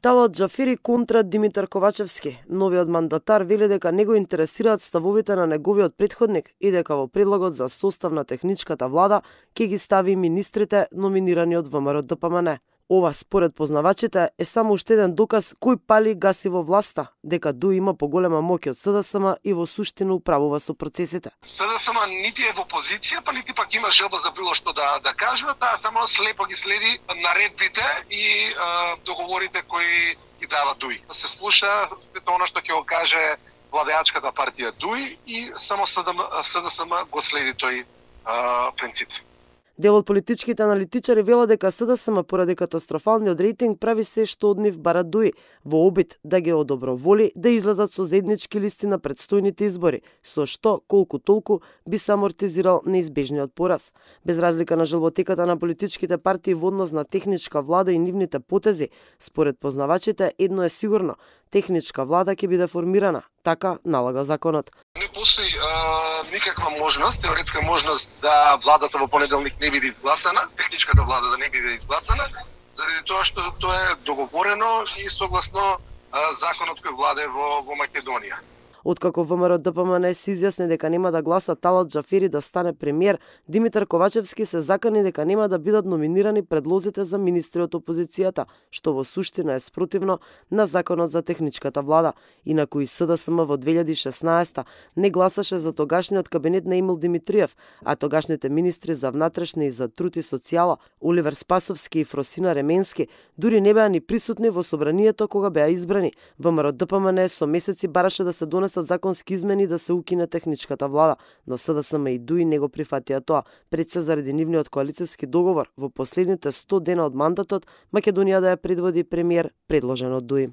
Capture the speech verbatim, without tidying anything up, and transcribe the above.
Талат Џафери контра Димитар Ковачевски. Новиот мандатар вели дека не го интересираат ставовите на неговиот претходник и дека во предлогот за состав на техничката влада ќе ги стави министрите номинирани од ВМРО Д П М Н. Ова, според познавачите, е само уште еден доказ кој пали гаси во власта, дека ДУИ има поголема моќ од С Д С М и во суштина управува со процесите. С Д С М нити е во позиција, па нити пак има желба за било што да да кажува, таа само слепо ги следи наредбите и е, договорите кои ги дава ДУИ. Се слуша она што ќе го каже владеачката партија ДУИ и само С Д С М го следи тој е, принцип. Дел од политичките аналитичари велат дека С Д С М поради катастрофалниот рейтинг прави се што од нив бара ДУИ во обид да ги одоброволи да излезат со заеднички листи на претстојните избори, со што колку толку би се амортизирал неизбежниот пораз. Без разлика на желботеката на политичките партии во однос на техничка влада и нивните потези, според познавачите едно е сигурно: техничка влада ќе биде формирана, така налага законот. Не постои е, никаква можност, теоретска можност да владата во понеделник не биде изгласана, техничката влада да не биде изгласана, заради тоа што тоа е договорено и согласно е, законот кој владее во, во Македонија. Откако ВМРО Д П М Н се изјасни дека нема да гласа Талат Џафери да стане премиер, Димитар Ковачевски се закани дека нема да бидат номинирани предлозите за министри од опозицијата, што во суштина е спротивно на законот за техничката влада, инаку и С Д С М во две илјади и шеснаесета не гласаше за тогашниот кабинет на Емил Димитриев, а тогашните министри за внатрешни и за труд и социјала, Оливер Спасовски и Фросина Ременски, дури не беа ни присутни во собранието кога беа избрани. ВМРО Д П М Н со месеци бараше да се донесат законски измени да се укине техничката влада, но С Д С М и ДУИ не го прифатија тоа, пред се заради нивниот коалициски договор во последните сто дена од мандатот Македонија да ја предводи премиер предложен од ДУИ.